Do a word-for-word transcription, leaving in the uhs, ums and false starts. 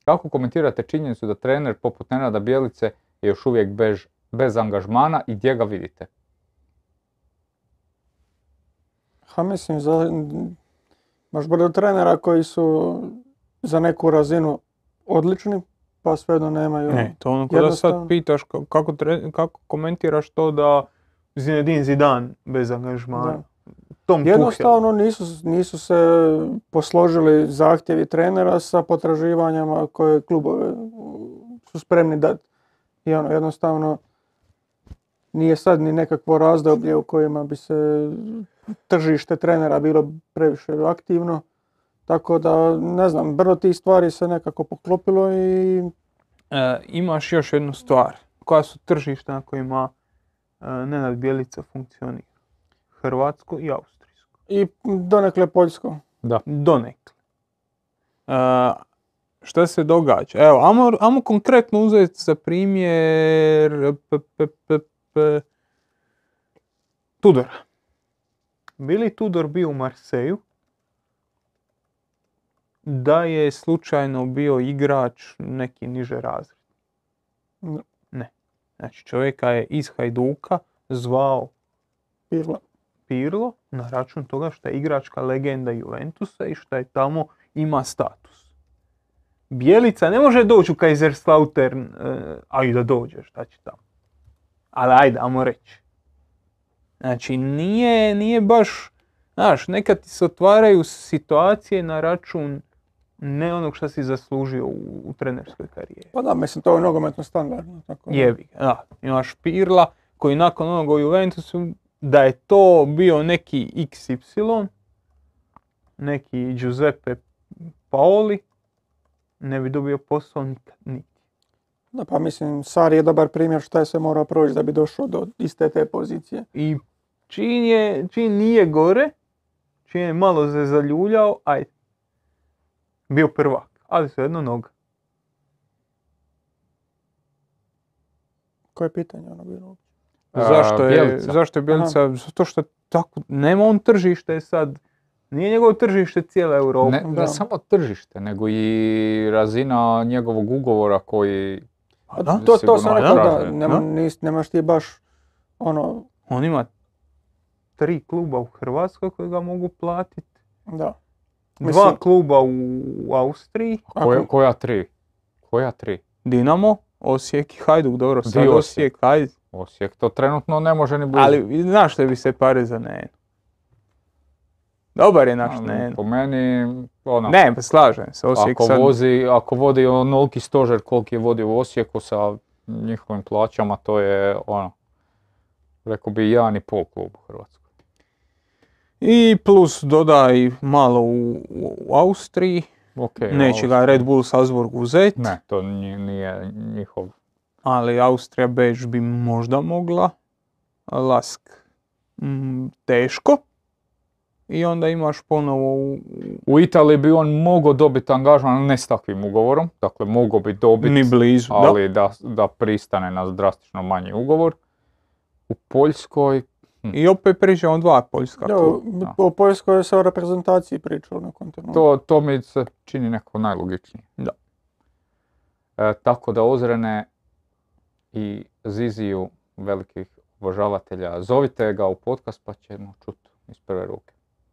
kako komentirate činjenicu da trener poput Nenada Bjelice je još uvijek bez, bez angažmana i gdje ga vidite? Ha, mislim, za, baš bude trenera koji su za neku razinu odlični, pa svejedno nemaju. Ne, to ono kada sad pitaš kako, tre, kako komentiraš to da Zinedine Zidane bez angažmana. Da. Tom Jednostavno nisu, nisu se posložili zahtjevi trenera sa potraživanjama koje klubove su spremni dati. I ono, jednostavno nije sad ni nekakvo razdoblje u kojima bi se tržište trenera bilo previše aktivno. Tako da, ne znam, brdo tih stvari se nekako poklopilo i... E, imaš još jednu stvar. Koja su tržišta na kojima e, Nenad Bjelica funkcionira? Hrvatsko i austrijsko. I donekle poljsko. Da. Donekle. E, šta se događa? Evo, ajmo, ajmo konkretno uzeti za primjer p, p, p, p, Tudora. Bi li Tudor bio u Marseju da je slučajno bio igrač neki niže razred? Ne. Ne. Znači čovjeka je iz Hajduka zvao Pirlo. Pirlo na račun toga što je igračka legenda Juventusa i što je tamo ima status. Bjelica ne može doći u Kaiserslautern, a i da dođe, šta će tamo. Ali ajde, ajmo reći. Znači nije, nije baš, znaš, nekad ti se otvaraju situacije na račun ne onog što si zaslužio u, u trenerskoj karijeri. Pa da, mislim, to je nogometno standardno. Tako. Jebi ga, da. Imaš Pirla koji nakon onoga u Juventusu, da je to bio neki iks ipsilon, neki Giuseppe Paoli, ne bi dobio posao nikad, niti. Da, pa mislim, Sarri je dobar primjer šta je sve morao proći da bi došao do iste te pozicije. I čim, je, čim nije gore, čim je malo se zaljuljao, ajde, bio prvak, ali svejedno noga. Koje je pitanje ono bilo? Zašto je Bjelica? Zašto je Bjelica? Zato što tako, nema on tržište sad, nije njegovo tržište cijela Europa. Ne, ne samo tržište, nego i razina njegovog ugovora koji... A da, to, to sam rekao, da, traže, nema, da. nis, nemaš ti baš ono... On ima tri kluba u Hrvatskoj koji ga mogu platiti. Da. Dva Mislim- kluba u, u Austriji. Koja, koja tri? Koja tri? Dinamo, Osijek i Hajduk. Dobro, sad Di Osijek? Osijek, Hajduk. Osijek to trenutno ne može ni blizu. Ali znaš što bi se pare za Nenu? Dobar je naš Nenu. Po meni, ono, Ne, pa slažem se. Osijek ako, sad... vozi, ako vodi onoliki stožer koliki je vodio u Osijeku sa njihovim plaćama, to je ono, rekao bi jedan i pol klub u Hrvatskoj. I plus dodaj malo u, u Austriji. Okay, Neće ga Red Bull Salzburg uzeti. Ne, to nije, nije njihov. Ali Austrija Beč bi možda mogla. Lask mm, teško. I onda imaš ponovo u... U Italiji bi on mogao dobiti angažman, ne s takvim ugovorom, dakle mogao bi dobiti, Ni blizu, ali da. Da, da pristane na drastično manji ugovor. U Poljskoj, I opet pričamo dva poljska Da, kluba. o Poljskoj se o reprezentaciji pričalo na kontinentu. to, to mi se čini neko najlogičnije. Da. E, tako da Ozrene i Ziziju, velikih obožavatelja, zovite ga u podcast pa ćemo čuti iz prve ruke.